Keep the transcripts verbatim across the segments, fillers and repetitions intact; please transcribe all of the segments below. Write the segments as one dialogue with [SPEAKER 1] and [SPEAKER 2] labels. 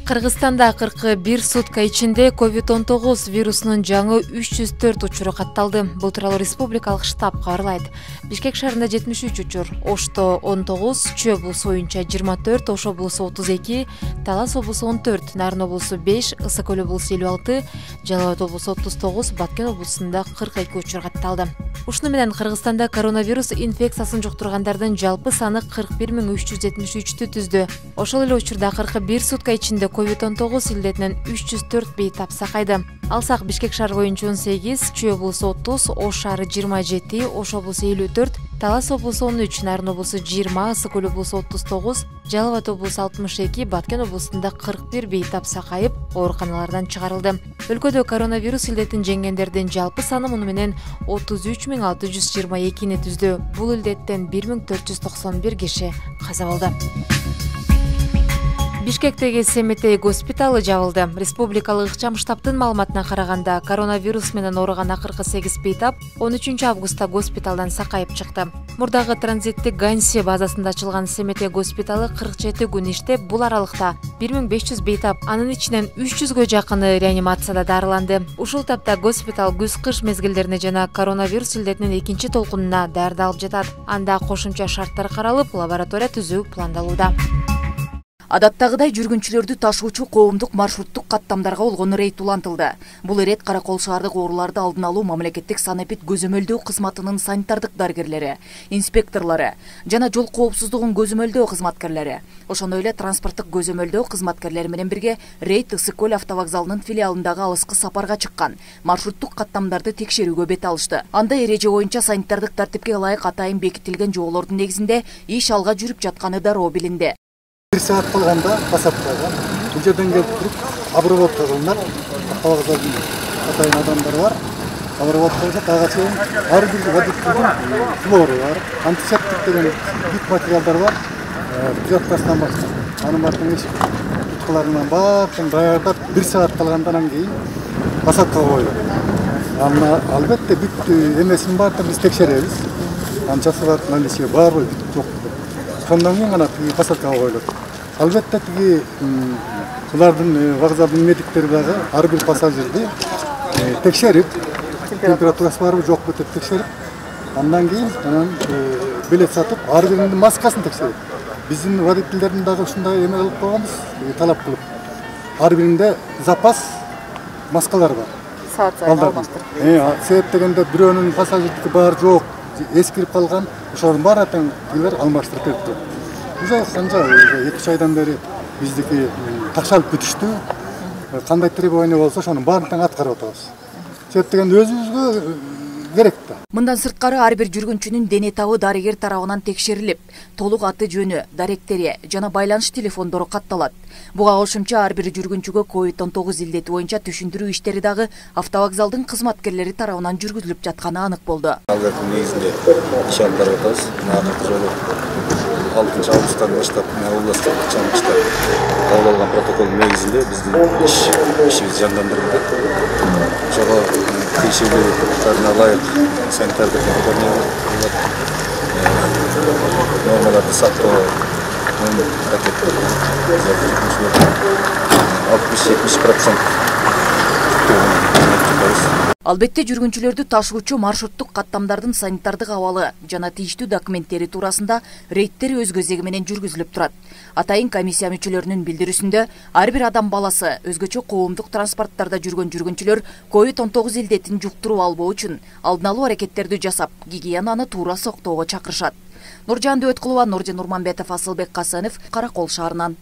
[SPEAKER 1] Кыргызстанда кырк бир сутка ичинде ковид он тогуз вирусунун жаңы үч жүз төрт учуру катталды. Бул тууралуу республикалык штаб кабарлайт. Бишкек шаарында жетимиш үч учур, Ошто он тогуз, Чүй облусу боюнча жыйырма төрт, Ош облусу отуз эки, Талас облусу он төрт, Нарын облусу беш, Ысык көл облусу элүү алты, Жалал Абад облусу отуз тогуз, Баткен облусунда кырк эки учур катталды. Ушуну менен Кыргызстанда коронавирус инфекциясын жуктургандардын жалпы саны кырк бир миң үч жүз жетимиш үчтү түздү. Ошол эле учурда кырк бир сутка ичинде ковид он тогуз илдетинен үч жүз төрт бейтап сакайды. Алсак Бишкек шаар боюнча он сегиз, Чүй облусу отуз, Ош шаары жыйырма жети, Ош облусу элүү төрт, Талас облусу он үч, Нарын облусу жыйырма, Ысык көл облусу отуз тогуз, Жалал Абад облусу алтымыш эки, Баткен облусунда кырк бир бейтап сакайып, ооруканалардан чыгарылды. Өлкөдө коронавирус илдетин жеңгендердин жалпы саны муну менен отуз үч миң алты жүз жыйырма экини түздү. Бул илдеттен бир миң төрт жүз токсон бир киши каза болду. Бишкектеги Семетей госпиталы жабылды. Республикалык ыкчам штабтын маалыматына караганда, коронавирус менен ооруган акыркы сегиз бейтап он үчүнчү августта госпиталдан сакайып чыкты. Мурдагы транзиттик Ганси базасында ачылган Семетей госпиталы кырк жети күн иштеп, бул аралыкта бир миң беш жүз бейтап, анын ичинен үч жүзгө жакыны реанимацияда дарыланды. Ушул тапта госпитал күз-кыш мезгилдерине жана коронавирус илдетинин экинчи толкунуна даярдалып жатат. Анда кошумча шарттар каралып, лаборатория түзүү пландалууда.
[SPEAKER 2] Адаттагыдай жүргүнчүлөрдү ташуучу коомдук маршруттук каттамдарга болгон рейд улантылды. Бул рейд Кара Кол шаардык ооруларды алдын алуу мамлекеттик санэпид көзөмөлдөө кызматынын санитардык дарыгерлери, инспекторлору жана жол коопсуздугун көзөмөлдөө кызматкерлери, ошондой эле транспорттук көзөмөлдөө кызматкерлери менен бирге рейд Ысык көл автовокзалынын филиалындагы алыскы сапарга чыккан маршруттук каттамдарды текшерүүгө бет алышты. Анда эреже боюнча санитардык тартипке ылайык атайын бекитилген жоболордун негизинде иш алга жүрүп жатканы дароо билинди.
[SPEAKER 3] Bir saat kalganda basaptaga, bu yerden gelip durup обработка kılınlar. Автовокзалдын атайын адамдар бар. Обработка дагы чейин ар бир водительдин флору бар, антисептик деген бүт материалдар бар. Бюджеттен башка. Анын баардыгын эч туткаларынан баарын даярдап bir saat калгандан кийин басапкага коюлат. Аны албетте бүт эмесин баардыгын биз текшеребиз. Канчасы бар, наличие барбы, жок. Сондан кийин гана басапкага коюлат. Албетте тиги булардын вокзалдын медиктери дагы ар бир пассажирди текшерип, температурасы барбы жокпу деп текшерип, андан кийин анан билет сатып, ар биринин маскасын текшерип. Биздин водительдердин дагы ушундай эме кылып койгонбуз, талап кылып. Ар биринде запас маскалар бар.
[SPEAKER 2] Саат сайын алмаштырып.
[SPEAKER 3] Себеп дегенде бирөөнүн пассажирдики бар жок, эскирип калган, ошонун баарын тең алмаштырып берип. Уже канча эки үч айдан бери биздики такшалып бүтүштү. Кандай требование болсо ошонун баарын тең аткарып атабыз. Себеп дегенде өзүбүзгө керек да.
[SPEAKER 2] Мындан сырткары ар бир жүргүнчүнүн дене табы дарыгер тарабынан текшерилип, толук аты жөнү, даректери жана байланыш телефондору катталат. Буга кошумча ар бир жүргүнчүгө ковид он тогуз илдети боюнча түшүндүрүү иштери дагы автовокзалдын кызматкерлери тарабынан жүргүзүлүп жатканы анык болду.
[SPEAKER 4] Алгачкы негизинде иш алып барып атабыз. Акыркы жолу алтынчы августтан баштап областтык ыкчам штаб кабыл алган протоколдун негизинде биздин иш ишибиз жандандырылды. Ошого тиешелүүлөрүнө ылайык санитардык нормаларды сактоо алтымыш жетимиш процент.
[SPEAKER 2] Албетте жүргүнчүлөрдү ташуучу маршруттук каттамдардын санитардык абалы жана тийиштүү документтери туурасында рейдтер өз кезеги менен жүргүзүлүп турат. Атайын комиссия мүчөлөрүнүн билдирүүсүндө ар бир адам баласы өзгөчө коомдук транспорттарда жүргөн жүргүнчүлөр ковид он тогуз илдетин жуктуруп албоо үчүн алдын алуу аракеттерди жасап, гигиенаны туура сактоого чакырышат. Нуржан Дөөткулова, Нуржан Нурманбетов, Асылбек Касанов, Кара Кол шаарынан.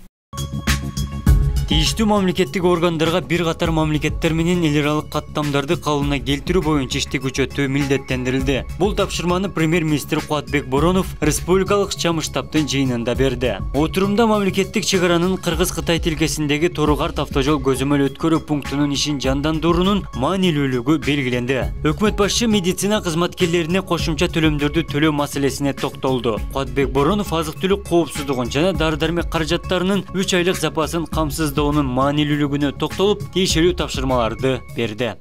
[SPEAKER 5] Тийиштүү мамлекеттик органдарга бир катар мамлекеттер менен эл аралык каттамдарды калыбына келтирүү боюнча ишти күчөтүү милдеттендирилди. Бул тапшырманы премьер-министр Кубатбек Боронов республикалык ыкчам штабтын жыйынында берди. Отурумда мамлекеттик чек аранын Кыргыз-Кытай тилкесиндеги Тору-Карт автожол көзөмөл өткөрүү пунктунун ишин жандандыруунун маанилүүлүгү белгиленди. Өкмөт башчы медицина кызматкерлерине кошумча төлөмдөрдү төлөө маселесине токтолду. Кубатбек Боронов азык-түлүк коопсуздугун жана дары-дармек каражаттарынын үч айлык запасын камсыздоо onun маанилүүлүгүнө токтолуп, тийиштүү тапшырмаларды берди.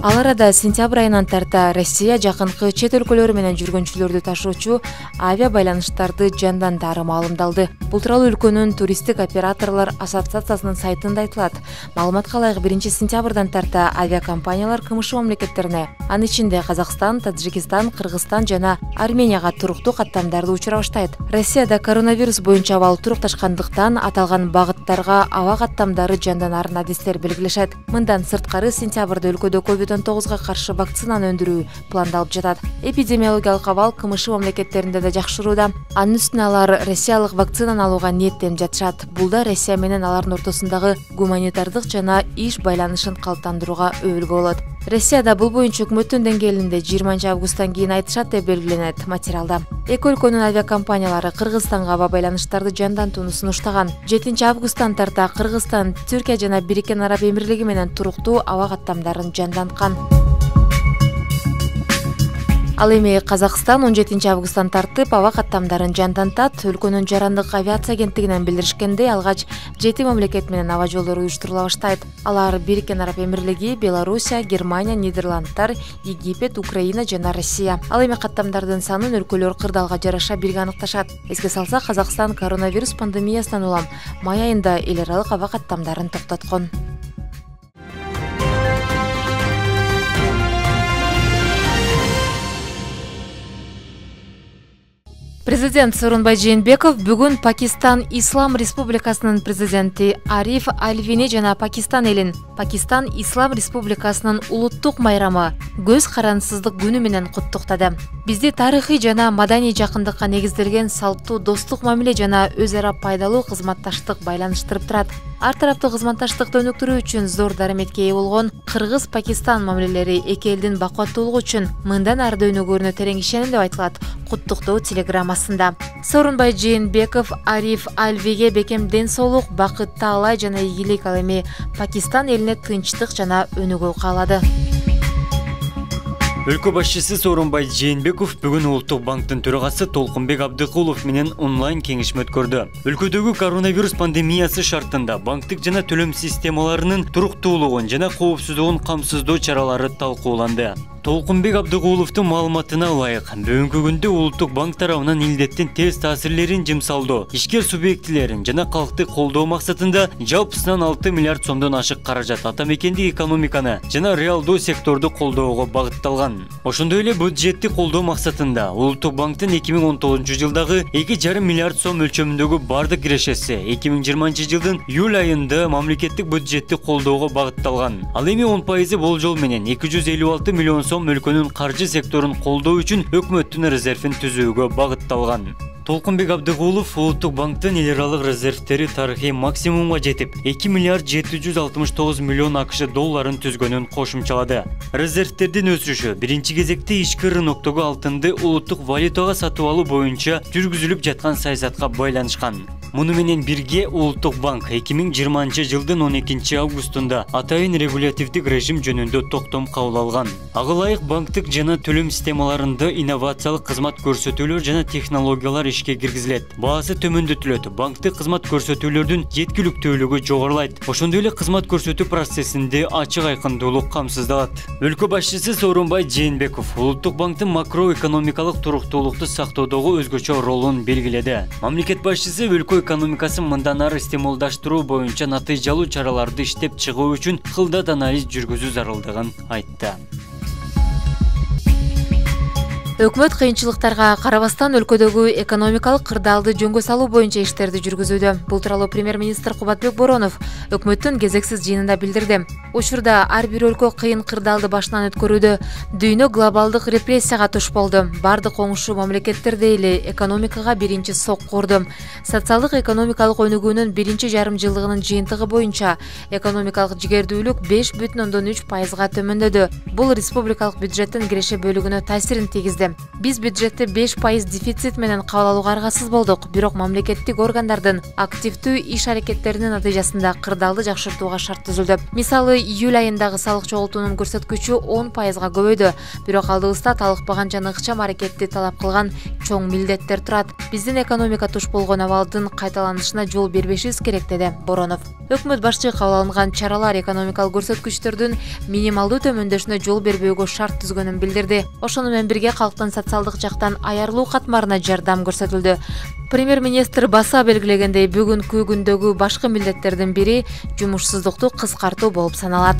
[SPEAKER 1] Ал арада сентябрь айынан тарта Россия жакынкы чет өлкөлөрү менен жүргүнчүлөрдү ташуучу авиа байланыштарды жандандары маалымдалды. Бул тууралуу өлкөнүн туристтик операторлор ассоциациясынын сайтында айтылат. Маалыматка ылайык биринчи сентябрдан тарта авиакомпаниялар КМШ мамлекеттерине, анын ичинде Казакстан, Таджикистан, Кыргызстан жана Арменияга туруктуу каттамдарды учура баштайт. Россияда коронавирус боюнча абал турукташкандыктан аталган багыттарга аба каттамдары жанданарын адистер белгилешет. Мындан сырткары сентябрда өлкөдө ковид он тогузга каршы вакцинаны өндүрүү пландалып жатат. Эпидемиологиялык абал КМШ мамлекеттеринде да жакшырууда. Анын үстүнө алар россиялык вакцинаны алууга ниеттенип жатышат. Бул да Россия менен алардын ортосундагы гуманитардык жана иш байланышын калыптандырууга өбөлгө болот. Россияда бул боюнча өкмөттүн деңгээлинде жыйырманчы августтан кийин айтышат деп белгиленет материалда. Эки өлкөнүн авиакомпаниялары Кыргызстанга аба байланыштарды жандантууну сунуштаган. жетинчи августтан тарта Кыргызстан, Түркия жана Бириккен Араб Эмирлиги менен туруктуу аба каттамдарын жанданткан. Ал эми Казакстан он жетинчи августтан тартып аба каттамдарын жандантат. Өлкөнүн жарандык авиация агенттигинен билдиришкендей, алгач жети мамлекет менен аба жолдору уюштурула баштайт. Алар Бириккен Араб Эмирлиги, Белоруссия, Германия, Нидерландтар, Египет, Украина жана Россия. Ал эми каттамдардын санын өлкөлөр кырдаалга жараша бирге аныкташат. Эске салсак, Казакстан коронавирус пандемиясынан улам май айында эл аралык аба каттамдарын токтоткон. Президент Сооронбай Жээнбеков бүгүн Пакистан Ислам Республикасынын президенти Ариф Альвини жана Пакистан элин Пакистан Ислам Республикасынын улуттук майрамы көз карансыздык күнү менен куттуктады. Бизди тарыхый жана маданий жакындыкка негизделген салттуу достук мамиле жана өз ара пайдалуу кызматташтык байланыштырып турат. Ар тараптуу кызматташтыкты өнүктүрүү үчүн зор дараметке ээ болгон Кыргыз-Пакистан мамилелери эки элдин бакуаттуулугу үчүн мындан ары да өнүгүүрүнө терең ишенем деп айтылат куттуктоо телеграммасында. Сооронбай Жээнбеков Ариф Альвиге бекем ден соолук, бакыт, таалай жана ийгилик, ал эми Пакистан элине тынчтык жана өнүгүү каалады.
[SPEAKER 5] Өлкө башчысы Сооронбай Жээнбеков бүгүн Улуттук банктын төрагасы Толкунбек Абдыкулов менен онлайн кеңешме өткөрдү. Өлкөдөгү коронавирус пандемиясы шартында банктык жана төлөм системаларынын туруктуулугун жана коопсуздугун камсыздоо чаралары талкууланды. Толкунбек Абдыкуловдун маалыматына ылайык, бүгүнкү күндө Улуттук банк тарабынан илдеттин терс таасирлерин жымсалдоо, ишкер субъектилерин жана калкты колдоо максатында жалпысынан алты миллиард сомдон ашык каражат атамекендик экономиканы жана реалдуу секторду колдоого багытталган. Ошондой эле бюджетти колдоо максатында Улуттук банктын эки миң он тогузунчу жылдагы эки жарым миллиард сом өлчөмүндөгү бардык кирешеси эки миң жыйырманчы жылдын июль айында мамлекеттик бюджетти колдоого багытталган. Ал эми он пайызы болжол менен эки жүз элүү алты миллион сом өлкөнүн каржы секторун колдоо үчүн өкмөттүн резервин түзүүгө багытталган. Толкунбек Абдыкулов Улуттук банктын эл аралык резервтери тарыхый максимумга жетип, эки миллиард жети жүз алтымыш тогуз миллион АКШ долларын түзгөнүн кошумчалады. Резервтердин өсүшү биринчи кезекте ички рыноктогу алтынды улуттук валютага сатып алуу боюнча жүргүзүлүп жаткан саясатка байланышкан. Муну менен бирге Улуттук банк эки миң жыйырманчы жылдын он экинчи августунда атайын регулятивдик режим жөнүндө токтом кабыл алган. Ага ылайык банктык жана төлөм системаларында инновациялык кызмат көрсөтүүлөр жана технологиялар ишке киргизилет. Баасы төмөндөтүлөт, банктык кызмат көрсөтүүлөрдүн жеткиликтүүлүгү жогорулайт. Ошондой эле кызмат көрсөтүү процессинде ачык айкындуулук камсыздалат. Өлкө башчысы Сооронбай Жээнбеков Улуттук банктын макроэкономикалык туруктуулукту сактоодогу өзгөчө ролун белгиледи. Мамлекет башчысы өлкө экономикасын мындан ары стимулдаштыруу боюнча натыйжалуу чараларды иштеп чыгуу үчүн кылдат анализ жүргүзүү зарылдыгын айтты.
[SPEAKER 1] Өкмөт кыйынчылыктарга карабастан өлкөдөгү экономикалык кырдаалды жөнгө салуу боюнча иштерди жүргүзүүдө. Бул тууралуу премьер-министр Кубатбек Боронов өкмөттүн кезексиз жыйынында билдирди. Учурда ар бир өлкө кыйын кырдаалды башынан өткөрүүдө. Дүйнө глобалдык репрессияга туш болду. Бардык оңушу мамлекеттерде эле экономикага биринчи сокку урду. Социалдык экономикалык өнүгүүнүн биринчи жарым жылдыгынын жыйынтыгы боюнча экономикалык жигердүүлүк беш бүтүн ондон үч пайызга төмөндөдү. Бул республикалык бюджеттин киреше бөлүгүнө таасирин тийгизди. Биз бюджетти беш пайыз дефицит менен кабыл алууга аргасыз болдук, бирок мамлекеттик органдардын активдүү иш аракеттеринин натыйжасында кырдаалды жакшыртууга шарт түзүлдү. Мисалы, июль айындагы салык чогултуунун көрсөткүчү он пайызга көбөйдү, бирок алдыбызда талыкпаган жана ыкчам аракетти талап кылган чоң милдеттер турат. Биздин экономика туш болгон абалдын кайталанышына жол бербешибиз керек, деди Боронов. Өкмөт башчы кабыл алынган чаралар экономикалык көрсөткүчтөрдүн минималдуу төмөндөшүнө жол бербөөгө шарт түзгөнүн билдирди. Ошону менен бирге калктын социалдык жактан аярылуу катмарына жардам көрсөтүлдү. Премьер-министр баса белгилегендей, бүгүнкү күндөгү башкы милдеттердин бири жумушсуздукту кыскартуу болуп саналат.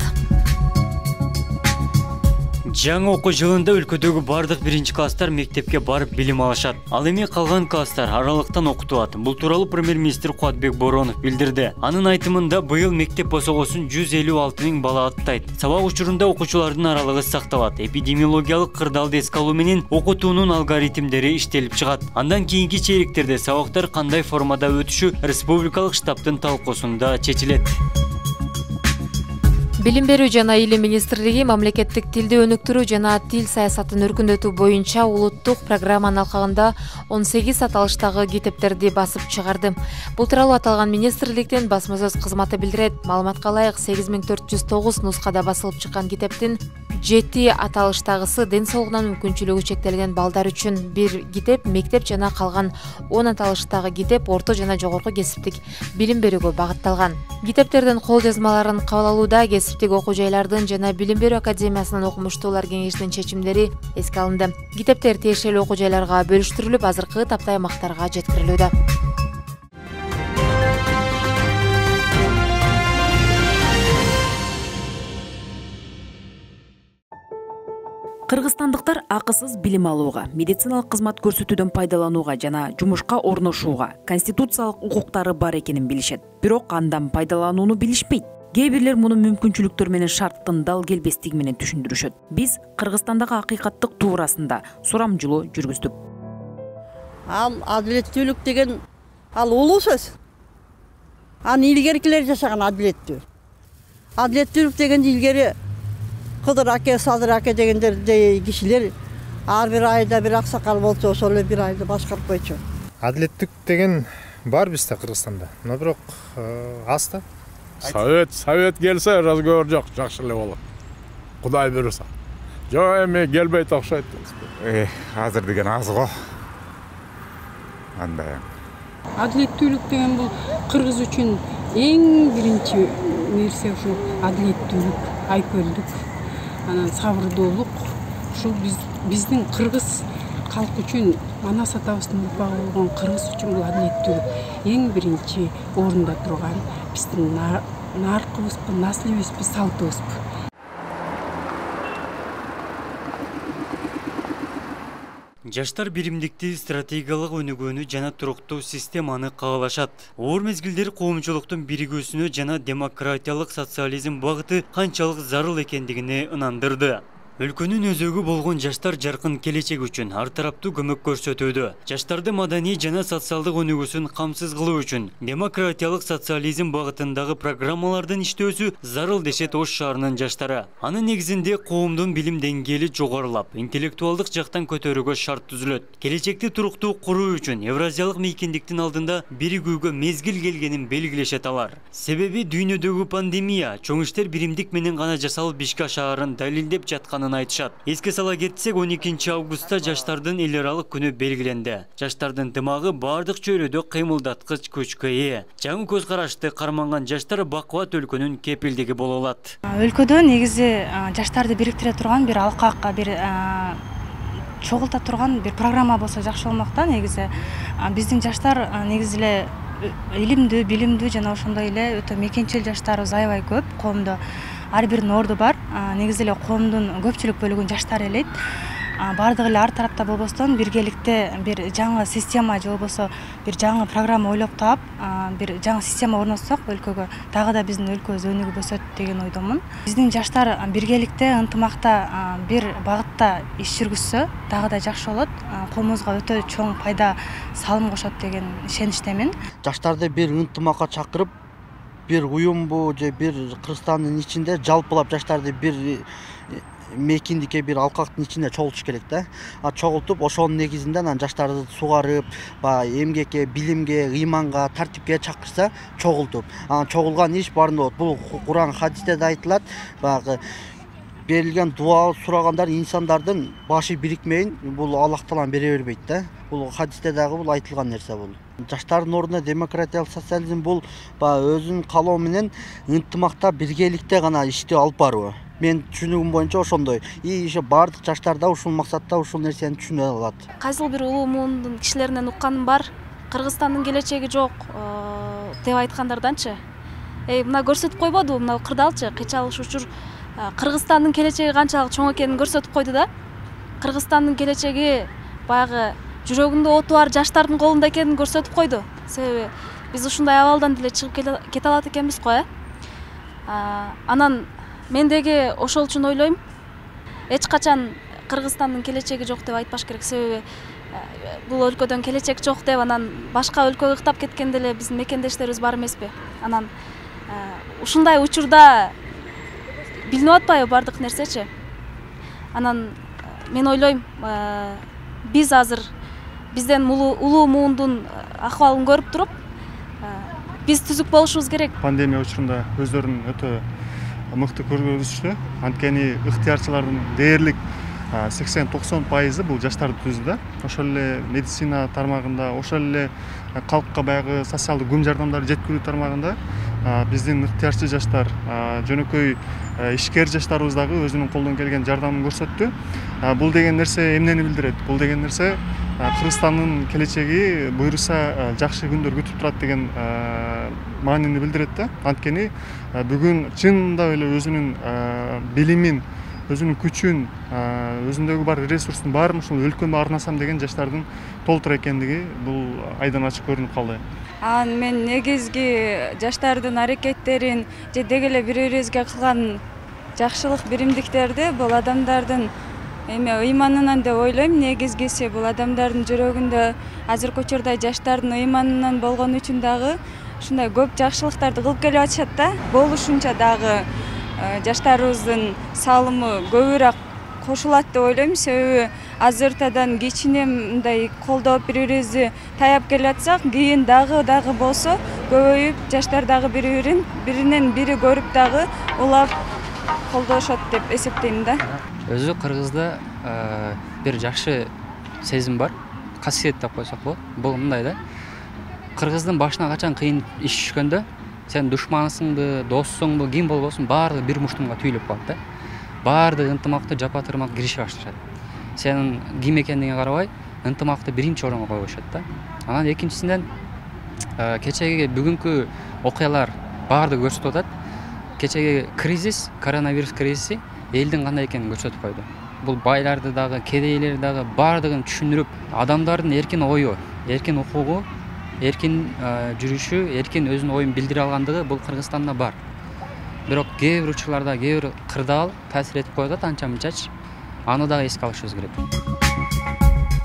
[SPEAKER 5] Жаңы окуу жылында өлкөдөгү бардык биринчи класстар мектепке барып билим алышат. Ал эми калган класстар аралыктан окутулат. Бул тууралуу премьер-министр Кубатбек Боронов билдирди. Анын айтымында быйыл мектеп босогосун жүз элүү алты миң бала аттайт. Сабак учурунда окуучулардын аралыгы сакталат. Эпидемиологиялык кырдаалды эске алуу менен окутуунун алгоритмдери иштелип чыгат. Андан кийинки чейректерде сабактар кандай формада өтүшү республикалык штабтын талкуусунда чечилет.
[SPEAKER 1] Билим берүү жана илим министрлиги мамлекеттик тилди өнүктүрүү жана тил саясатын өркүндөтүү боюнча улуттук программанын алкагында он сегиз аталыштагы китептерди басып чыгарды. Бул тууралуу аталган министрликтин басма сөз кызматы билдирет. Маалыматка ылайык, сегиз миң төрт жүз тогуз нускада басылып чыккан китептин жети аталыштагысы ден соолугунан мүмкүнчүлүгү чектелген балдар үчүн бир китеп, мектеп жана калган он аталыштагы китеп орто жана жогорку кесиптик билим берүүгө багытталган. Китептердин кол жазмаларын кабыл алууда кесиптик окуу жайлардын жана Билим берүү академиясынын окумуштуулар кеңешинин чечимдери эске алынды. Китептер тиешелүү окуу жайларга бөлүштүрүлүп, азыркы тапта аймактарга жеткирилүүдө.
[SPEAKER 2] Кыргызстандыктар акысыз билим алууга, медициналык кызмат көрсөтүүдөн пайдаланууга жана жумушка орношууга конституциялык укуктары бар экенин билишет. Бирок андан пайдаланууну билишпейт. Кээ бирлер муну мүмкүнчүлүктөр менен шарттын дал келбестиги менен түшүндүрүшөт. Биз Кыргызстандагы акыйкаттык туурасында сурамжылоо жүргүздүк.
[SPEAKER 6] Ал адилеттүүлүк деген ал улуу сөз. Аны илгеркилер жашаган адилеттүү. Адилеттүүлүк дегенди илгери Кыдыр аке, Садыр аке дегендердей кишилер ар бир айда бир аксакал болчу, ошол эле бир айды башкарып койчу.
[SPEAKER 7] Адилеттик деген бар бизде Кыргызстанда, но бирок аз да.
[SPEAKER 8] Совет, совет келсе разговор жок, жакшы эле болот. Кудай буйруса. Жок, эми келбейт окшойт.
[SPEAKER 9] Э, азыр деген аз го. Андай.
[SPEAKER 10] Адилеттүүлүк деген бул кыргыз үчүн эң биринчи нерсе ушул адилеттүүлүк, айкөлдүк, анан сабырдуулук. Ушул биз биздин кыргыз калк үчүн, анас атабыздын урпагы болгон кыргыз үчүн бул адилеттүүлүк эң биринчи орунда турган биздин наркыбызбы, наслибизби, салтыбызбы.
[SPEAKER 5] Жаштар биримдикти, стратегиялык өнүгүүнү жана туруктуу системаны каалашат. Оор мезгилдер коомчулуктун биригүүсүнө жана демократиялык социализм багыты канчалык зарыл экендигине ынандырды. Өлкөнүн өзөгү болгон жаштар жаркын келечек үчүн ар тараптуу көмөк көрсөтүүдө. Жаштарды маданий жана социалдык өнүгүүсүн камсыз кылуу үчүн демократиялык социализм багытындагы программалардын иштөөсү зарыл дешет Ош шаарынын жаштары. Анын негизинде коомдун билим деңгээли жогорулап, интеллектуалдык жактан көтөрүүгө шарт түзүлөт. Келечекти туруктуу куруу үчүн Евразиялык мейкиндиктин алдында биригүүгө мезгил келгенин белгилешет алар. Себеби дүйнөдөгү пандемия чоң иштер биримдик менен гана жасалып ишке ашаарын далилдеп жатканын айтышат. Эске сала кетсек, он экинчи августта жаштардын эл аралык күнү белгиленди. Жаштардын дымагы бардык чөйрөдө кыймылдаткыч күчкө ээ. Жаңы көз карашты карманган жаштар бакубат өлкөнүн кепилдиги боло алат.
[SPEAKER 11] Өлкөдө негизи жаштарды бириктире турган бир алкак, бир чогулта турган бир программа болсо жакшы болмок да. Негизи биздин жаштар негизи эле илимдүү, билимдүү жана ошондой эле өтө мекенчил жаштарыбыз аябай көп. Коомдо ар биринин орду бар. Негизи эле коомдун көпчүлүк бөлүгүн жаштар элейт. Бардыгы эле ар тарапта болбостон биргеликте бир жаңы система же болбосо бир жаңы программа ойлоп таап, бир жаңы система орнотсок өлкөгө дагы да биздин өлкөбүз өнүгүп өсөт деген ойдомун. Биздин жаштар биргеликте ынтымакта бир багытта иш жүргүзсө дагы да жакшы болот. Коомубузга өтө чоң пайда салым кошот деген ишеничтемин.
[SPEAKER 12] Жаштарды бир ынтымакка чакырып, бир уюмбу же бир Кыргызстандын ичинде жалпылап жаштарды бир мейкиндикке, бир алкактын ичинде чогултуш керек да. А чогултуп, ошонун негизинде анан жаштарды сугарып, баягы эмгекке, билимге, ыйманга, тартипке чакырса, чогултуп. Анан чогулган иш баарында болот. Бул Куран, хадисте да айтылат. Баягы берилген дуа сурагандар инсандардын башы бирикмейин бул Аллах Таалам бере бербейт да. Бул хадисте дагы бул айтылган нерсе бул. Жаштардын ордуна демократиялык социализм бул өзүнүн каалоо менен ынтымакта биргеликте гана иштеп алып баруу. Мен түшүнүгүм боюнча ошондой. И иши бардык жаштар да ушул максатта ушул нерсени түшүнө алат.
[SPEAKER 13] Кайсыл бир улуу муундун кишилеринен укканым бар. Кыргызстандын келечеги жок деп айткандарданчы. Эй, мына көрсөтүп койбоду, мына кырдаалчы, кыйчалыш учур Кыргызстандын келечеги канчалык чоң экенин көрсөтүп койду да. Кыргызстандын келечеги баягы жүрөгүндө оту бар жаштардын колунда экенин көрсөтүп койду. Себеби биз ушундай абалдан деле чыгып кете алат экенбиз го, э. Анан мен деги ошол үчүн ойлойм, эч качан Кыргызстандын келечеги жок деп айтпаш керек. Себеби бул өлкөдөн келечек жок деп анан башка өлкөгө ыктап кеткен деле биздин мекендештерибиз бар эмеспи? Анан ушундай учурда билинип атпайбы бардык нерсечи? Анан мен ойлойм, биз азыр бизден улуу муундун акыбалын көрүп туруп, биз түзүк болушубуз керек.
[SPEAKER 14] Пандемия учурунда өздөрүн өтө мыкты көрсөтүштү. Анткени ыктыярчылардын дээрлик сексен токсон пайызы бул жаштарды түздү да. Ошол эле медицина тармагында, ошол эле калкка баягы социалдык көм жардамдарды жеткирүү тармагында биздин ыктыярчы жаштар, жөнөкөй ишкер жаштарыбыз дагы өзүнүн колдон келген жардамын көрсөттү. Бул деген нерсе эмнени билдирет? Бул деген нерсе Кыргызстандын келечеги буюрса жакшы күндөр күтүп турат деген маанини билдирет да. Анткени бүгүн чынында эле өзүнүн билимин, өзүнүн күчүн, өзүндөгү бар ресурстун баарын ушул өлкөмө арнасам деген жаштардын толтур экендиги бул айдан ачык көрүнүп калды.
[SPEAKER 15] Анан мен негизги жаштардын аракеттерин же деги эле бири бирибизге кылган жакшылык биримдиктерди бул адамдардын эме ыйманынан деп ойлойм. Негизгиси бул адамдардын жүрөгүндө азыркы учурда жаштардын ыйманынан болгон үчүн дагы ушундай көп жакшылыктарды кылып келип атышат да. Болушунча дагы жаштарыбыздын салымы көбүрөөк кошулат деп ойлойм. Себеби азыртадан кичине мындай колдоп бири бирибизди таяп келатсак, кийин дагы дагы болсо көбөйүп жаштар дагы бири бирин биринен бири көрүп дагы улап колдошот деп эсептейм да.
[SPEAKER 16] Өзү Кыргызда бир жакшы сезим бар, касиет деп койсок болот. Бул мындай да. Кыргыздын башына качан кыйын иш түшкөндө, сен душмансыңбы, доссуңбу, ким болбосун, баардыгы бир муштумга түйүлүп калат да. Баардыгы ынтымакты жапа-тырмак киришип башташат. Сенин ким экендигине карабай, ынтымакты биринчи орунга коюшат да. Анан экинчисинен кечеги бүгүнкү окуялар баардыгы көрсөтүп атат. Кечеги кризис, коронавирус кризиси элдин кандай экенин көрсөтүп койду. Бул байларды дагы, кедейлерди дагы баардыгын түшүндүрүп, адамдардын эркин ою, эркин укугу, эркин жүрүшү, эркин өзүнүн оюн билдире алгандыгы бул Кыргызстанда бар. Бирок кээ бир учурларда кээ бир кырдаал таасир этип коет анча-мынчачы. Аны дагы эске алышыбыз керек.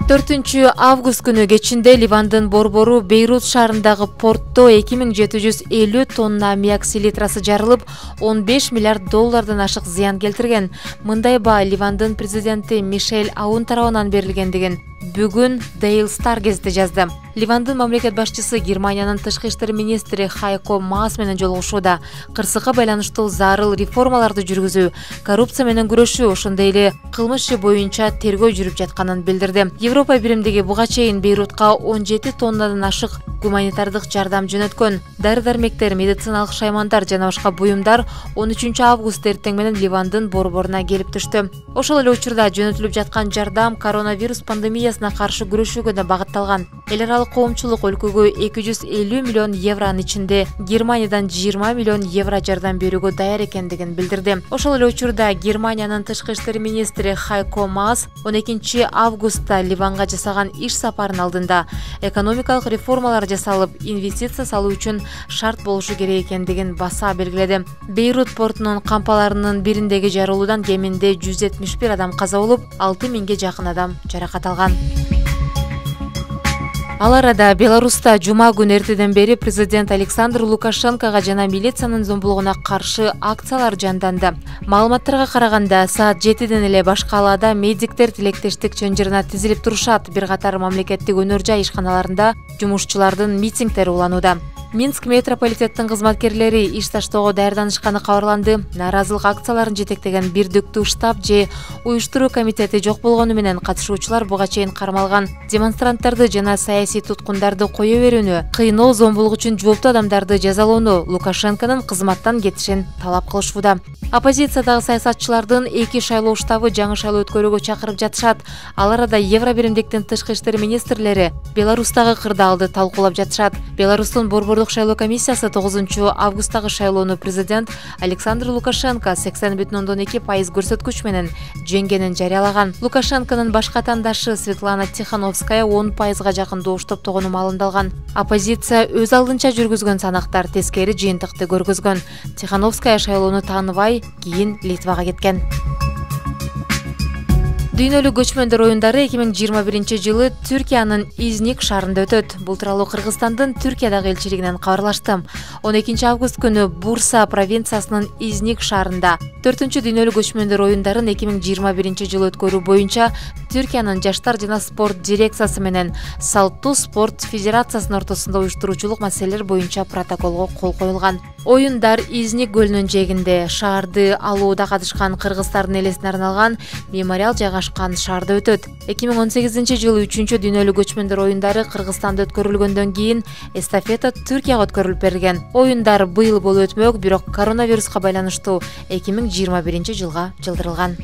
[SPEAKER 1] төртүнчү август күнү кечинде Ливандын борбору Бейрут шаарындагы портто эки миң жети жүз элүү тонна аммиак селитрасы жарылып, он беш миллиард доллардан ашык зыян келтирген. Мындай баа Ливандын президенти Мишель Аун тарабынан берилгендигин бүгүн Daily Star газети жазды. Ливандын мамлекет башчысы Германиянын тышкы иштер министри Хайко Маас менен жолугушууда. Кырсыкка байланыштуу зарыл реформаларды жүргүзүү, коррупция менен күрөшүү, ошондой эле кылмыш иши боюнча тергөө жүрүп жатканын билдирди. Европа биримдиги буга чейин Бейрутка он жети тоннадан ашык гуманитардык жардам жөнөткөн. Дары-дармектер, медициналык шаймандар жана башка буюмдар он үчүнчү август эртең менен Ливандын борборуна келип түштү. Ошол эле учурда жөнөтүлүп жаткан жардам коронавирус пандемиясына каршы күрөшүүгө да багытталган. Эл аралык коомчулук өлкөгө эки жүз элүү миллион евронун ичинде Германиядан жыйырма миллион евро жардам берүүгө даяр экендигин билдирди. Ошол эле учурда Германиянын тышкы иштер министри Хайко Маас он экинчи августта Ливанга жасаган иш сапарынын алдында экономикалык реформалар жасалып, инвестиция салуу үчүн шарт болушу керек экендигин баса белгиледи. Бейрут портунун кампаларынын бириндеги жарылуудан кеминде жүз жетимиш бир адам каза болуп, алты миңге жакын адам жаракат алган. Ал арада Беларуста жума күнү эртеден бери президент Александр Лукашенкого жана милициянын зомбулугуна каршы акциялар жанданды. Маалыматтарга караганда, саат жетиден эле баш калаада медиктер тилектештик чынжырына тизилип турушат. Бир катар мамлекеттик өнөр жай ишканаларында жумушчулардын митингдери уланууда. Минск метрополитеттин кызматкерлери иш таштоого даярданышканы кабарланды. Нааразылык акцияларын жетектеген бирдиктүү штаб же уюштуруу комитети жок болгону менен катышуучулар буга чейин кармалган. Демонстранттарды жана саясий туткундарды кое берүүнү, кыйноо, зомбулук үчүн жооптуу адамдарды жазалоону, Лукашенконун кызматтан кетишин талап кылышууда. Оппозициядагы саясатчылардын эки шайлоо штабы жаңы шайлоо өткөрүүгө чакырып жатышат. Ал арада Евро биримдиктин тышкы иштер министрлери Беларустагы кырдаалды талкуулап жатышат. Беларустун борбордук шайлоо комиссиясы тогузунчу августтагы шайлоону президент Александр Лукашенко сексен бүтүн ондон эки пайыз көрсөткүч менен жеңгенин жарыялаган. Лукашенконун башка атаандашы Светлана Тихановская он пайызга жакын добуш топтогону маалымдалган. Оппозиция өз алдынча жүргүзгөн санактар тескери жыйынтыкты көргөзгөн. Тихановская шайлоону тааныбай, кийин Литвага кеткен. Дүйнөлүк көчмөндөр оюндары эки миң жыйырма биринчи жылы Түркиянын Изник шаарында өтөт. Бул тууралуу Кыргызстандын Түркиядагы элчилигинен кабарлашты. он экинчи август күнү Бурса провинциясынын Изник шаарында төртүнчү дүйнөлүк көчмөндөр оюндарын эки миң жыйырма биринчи жылы өткөрүү боюнча Түркиянын жаштар жана спорт дирекциясы менен Салттуу спорт федерациясынын ортосунда уюштуруучулук маселелер боюнча протоколго кол коюлган. Оюндар Изник көлүнүн жээгинде шаарды алууда катышкан кыргыздардын элесине арналган мемориал жайгашкан шаарда өтөт. эки миң он сегизинчи жылы үчүнчү дүйнөлүк көчмөндөр оюндары Кыргызстанда өткөрүлгөндөн кийин эстафета Түркияга өткөрүлүп берилген. Оюндар быйыл болуп өтмөк, бирок коронавируска байланыштуу эки миң жыйырма биринчи жылга жылдырылган.